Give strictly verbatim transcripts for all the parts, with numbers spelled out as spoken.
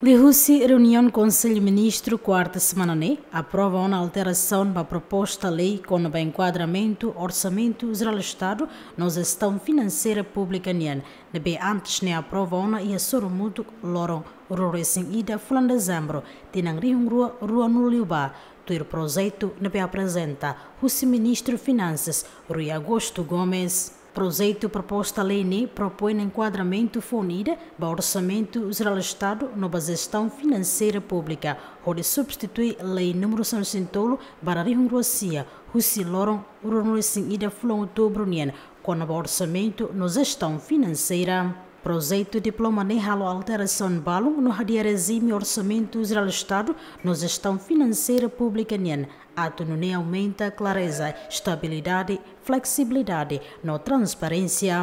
Liuhusi reuniaun Konsellu Ministru kuarta semana ne'e, aprova ona alterasaun ba proposta lei kona-ba enkuadramentu Orsamentu Jerál Estadu no Jestaun Finanseira Públika nian, ne'ebé antes ne'e aprova ona iha sorumutu loron ruanulu-resin-ida fulan Dezembru, tinan rihun rua ruanulu-liubá, tuir projetu ne'ebé aprezenta husi Ministru Finansas, Rui Agosto Gomes. Projetu proposta lei ne'e propoin enkuadramentu foun ida ba Orsamentu Jerál Estadu no ba Jestaun Finanseira Públika, hodi substitui Lei númeru sanulu-resin-tolu barra rihun rua sia, husi loron ruanulu-resin-ida fulan Outubru nian, kona-ba orsamentu no jestaun finanseira. Projetu diploma ne'e halo alterasaun balun no hadi'a rejime Orsamentu Jerál Estadu no Jestaun Finanseira Públika nian, atu nune'e aumenta klareza, estabilidade, fleksibilidade no transparénsia.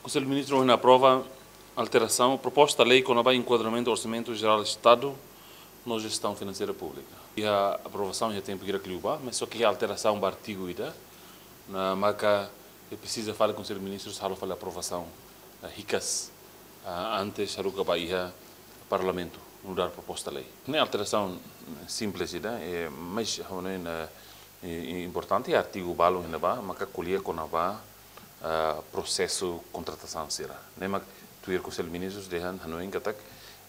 Konsellu Ministru ohin aprova alterasaun proposta lei kona-ba enkuadramentu Orsamentu Jerál Estadu no Jestaun Finanseira Públika. Iha aprovasaun iha tempu hirak liubá, mas só ke iha alterasaun ba artigu ida, ne'e maka presiza fali Konsellu Ministrus halo fali aprovasaun, eh, hikas, ah, antes haruka ba iha Parlamentu nu'udar proposta lei. Ne'e alterasaun simples ida, eh, mas ha'u hanoin, eh, i-, i-, importante artigu balu iha ne'ebá, maka ko'alia kona-ba, ah, prosesu kontratasaun sira. Ne'e mak tuir Konsellu Ministrus dehan hanoin katak,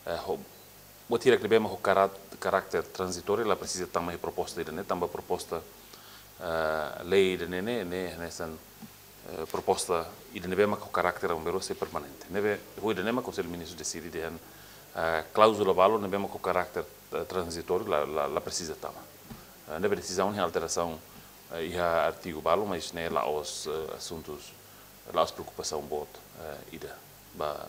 eh, ho-, buat hirak ne'ebé mak ho karat-, karakter tranzitóriu la presiza tama iha proposta ida-ne'e, tanba proposta, eh, lei ida-ne'e ne'e, ne'e hanesan, eh, proposta ida ne'ebé mak ho karakter, maibé sei permanente. Ne'ebé, ho ida-ne'e mak Konsellu Ministrus deside dehan, eh, kláuzula balu ne'ebé mak ho karakter, eh, tranzitóriu la, la, la presiza tama. Eh, ne'ebé desizaun iha alterasaun, eh, iha artigu balu, mas ne'e la'ós, eh, asuntus, la'ós preokupasaun boot, eh, ida ba,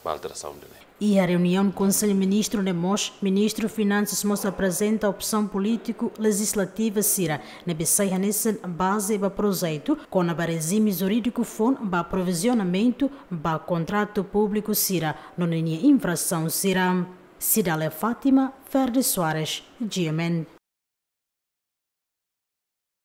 ba alterasaun ida-ne'e. Iha reuniaun Konsellu Ministru ne'e mós, Ministru Finansas mós aprezenta opsaun polítiku lejislativa sira ne'ebé sai hanesan baze ba projetu kona-ba rejime jurídiku foun ba aprovizionamentu ba kontratu públiku sira no ninia infrasaun sira. Cidália Fátima, Ferdi Soares, G M N.